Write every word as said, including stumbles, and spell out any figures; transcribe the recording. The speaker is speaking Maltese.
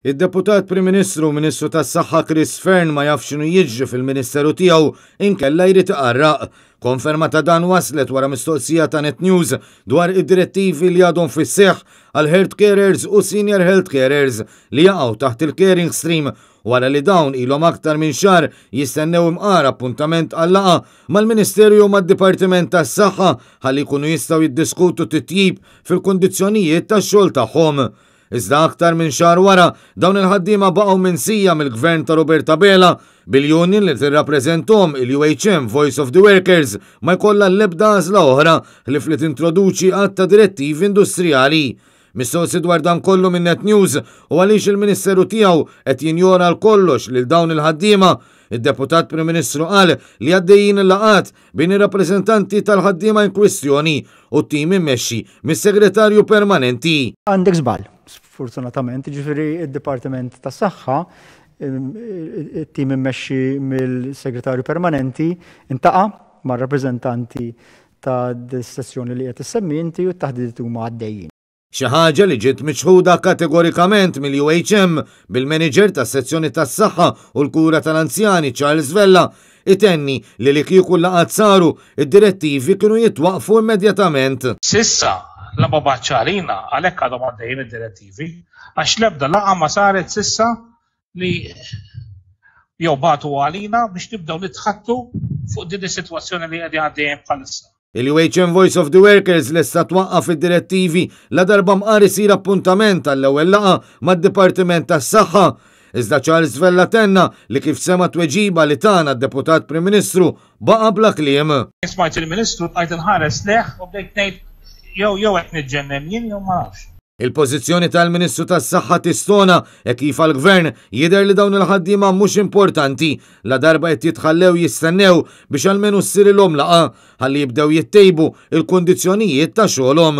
Id-Deputat Prim Ministru u Ministru tas-Saħħa Chris Fearne ma jafx x'inhu jiġri fil-Ministeru tiegħu inkella jrid iqarraq. Konferma ta' dan waslet wara mistoqsija ta' Net News dwar id-direttivi li għadhom fis-seħħ għal health carers u senior health carers li jaqgħu taħt il-caring stream, wara li dawn ilhom aktar minn xahar jistennew imqar appuntament għal laqgħa mal-Ministeru jew mad-Dipartiment tas-Saħħa ħalli jkunu jistgħu jiddiskutu titjib fil-kundizzjonijiet tax-xogħol tagħhom. Iżda aktar minn xahar wara, dawn il-ħaddiema baqgħu minsija mill-gvern ta' Robert Abela, bil-union li tirrappreżentahom, il-U H M Voice of the Workers, ma jkollha l-ebda għażla oħra ħlief li tintroduċi għadd ta' direttivi industrijali. Mistoqsi dwar dan kollu minn Net News u għaliex il-Ministeru tiegħu qed jinjora għal kollox lil dawn il-ħaddiema, id-Deputat Prim Ministru qal li għaddejjin il-laqgħat bejn ir-rappreżentanti tal-ħaddiema in kwistjoni u t-tim immexxi mis-segretarju permanenti. Għandek żball, sfortunatament, ġifieri id-Dipartiment tas-Saħħa, it-tim immexxi mill-segretarju permanenti iltaqa' mar-rappreżentanti ta' sezzjoni li qed issemmi inti u t-taħdidiet huma għaddejjin. Xi ħaġa li ġiet miċħuda kategorikament mill-U H M, bil-manager tas-sezzjoni tas-saħħa u l-kura tal-anzjani Charles Vella itenni li li kieku laqgħat saru, id-direttivi kienu jitwaqfu immedjatament. S'issa, la ma baċċarina, għalhekk għadhom għaddejjin id-direttivi, għax l-ebda laqgħa ma saret s'issa li jew bagħtu għalina biex nibdew nitħaddtu fuq din is-sitwazzjoni li qegħdin għaddejjin bħalissa. Il-U H M Voice of the Workers lesta twaqqaf id-direttivi la darba mqar isir appuntament għall-ewwel laqgħa mad-Dipartiment tas-Saħħa. Iżda Charles Vella tenna li kif sema tweġiba li tana d-Deputat Prim Ministru baqa' bla kliem. Smajt il-Ministru, bqajt inħares lejh u bdejt ngħid jew jew qed niġġennen jien jew ma nafx. Il-pożizzjoni tal-Ministru tas-Saħħa tistona e kif għall-Gvern jidher li dawn il-ħaddiema mhux importanti la darba qed jitħallew jistennew biex almenu ssirilhom laqgħa ħalli jibdew jittejbu il-kundizzjonijiet ta' xogħolhom.